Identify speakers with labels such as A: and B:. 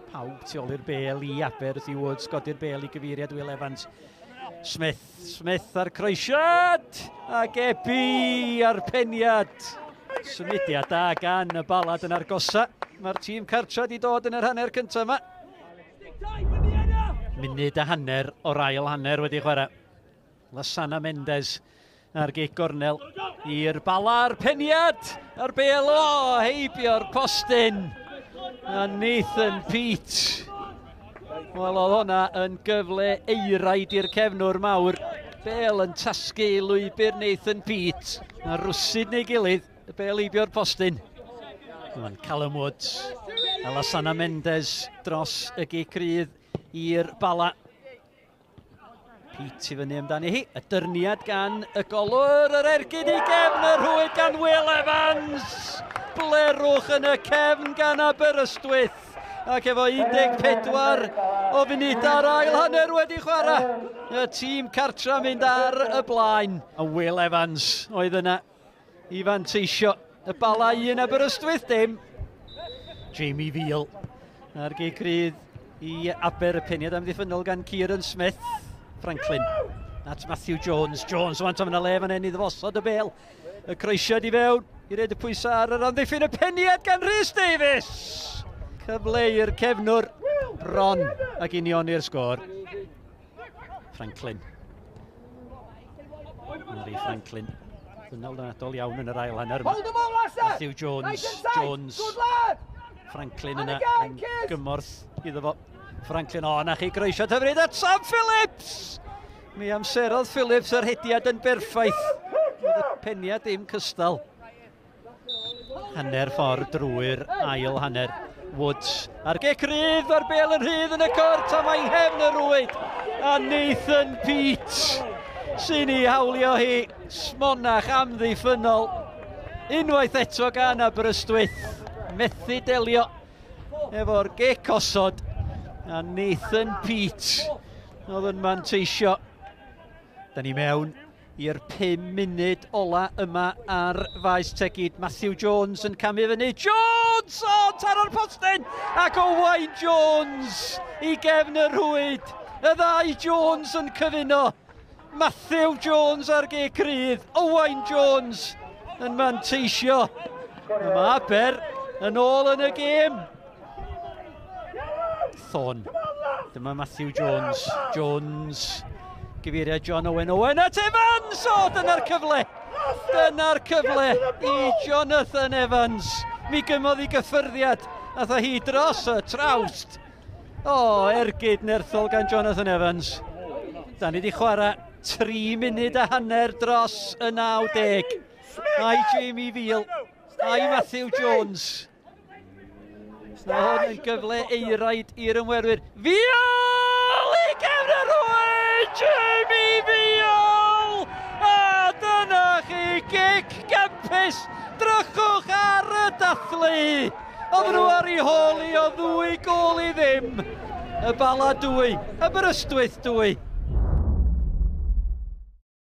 A: Pawb tu ôl i'r bel i Aber wrth i Woods godi'r bel i gyfeiriad Will Evans. Smith, Smith ar croesiad! Ac Ebi ar peniad. Symudiad da gan y Bala yn argosa. Mae'r tîm cartra wedi dod yn yr hanner cyntaf yma. Munud a hanner o'r ail hanner wedi chwarae. Lasana Mendes ar gic gornel i'r Bala a'r peniad a'r bel o heibio'r postyn a Nathan Peate. Wel, oedd hwnna yn gyfle eiraid i'r cefnwr mawr. Bel yn tasgu i lwybr Nathan Peate. A rwsyd neu gilydd, y bel heibio'r postyn. Mae'n Callum Woods a Lasana Mendes dros y gic rydd i'r Bala. Peate i fyny amdani hi. Y dyrniad gan y golwr, yr ergyd i gefn y rhwyd gan Will Evans. Blerwch yn y cefn gan Aberystwyth. Ac efo 14 o funudau'r ail hanner wedi chwarae. Y tîm cartra mynd ar y blaen. A Will Evans oedd yna i fanteisio. Y Bala 1, Aberystwyth dim. Jamie Veal ar gic rydd i Aber, y peniad amddiffynnol gan Kieran Smith. Franklin at Matthew Jones. Jones, wan tam yna le fan hyn i ddfosod y bel. Y croesiad i fewn i roid y pwysau ar yr amddiffyn. Y peniad gan Rhys Davies. Cyfle i'r cefnwr bron ac unioni'r sgôr. Franklin. Mary Franklin. Ddynol iawn yn yr ail hanner yma. Matthew Jones. Jones. Franklin yna yn gymorth iddo fo. Franklin, o, na chi groesiad hyfryd at Sam Phillips! Mi amserodd Phillips yr hediad yn berffaith. Oedd y peniad dim cystal. Hanner ffordd drwy'r ail hanner. Woods ar gic rydd, a'r bel yn rhydd yn y cwrt, a mae nghefn y rwyd. A Nathan Peate sy'n ei hawlio hi. Smonach amddiffynnol. Unwaith eto gan Aberystwyth. Methu delio efo'r gic osod. A Nathan Peate oedd yn manteisio. Da ni mewn i'r 5 munud ola yma ar faes Tegid. Matthew Jones yn camu fyny. Jones! O, taro'r postyn! Ac Owain Jones i gefn y rhwyd. Y ddau Jones yn cyfuno. Matthew Jones ar gic rydd. Owain Jones yn manteisio. A mae Aber yn ôl yn y gêm. Thorne. Dyma Matthew Jones. Jones. Gyfeiriad John Owen. Owen at Evans! O, dyna'r cyfle! Dyna'r cyfle i Jonathan Evans. Mi gymodd i gyffyrddiad. Ath hi dros y trawst. O, ergyd nerthol gan Jonathan Evans. Da ni wedi chwarae 3 munud a hanner dros y 90. Ai Jamie Veal, ai Matthew Jones. Mae hwn yn gyfle eiraid i'r ymwerwyr. Veal! I gefn y rhwyd! Jamie Veal! A dyna chi gic gampus! Drychwch ar y dathlu! Oedden nhw ar ei hôl i o 2-0. Y Bala 2, Aberystwyth 2.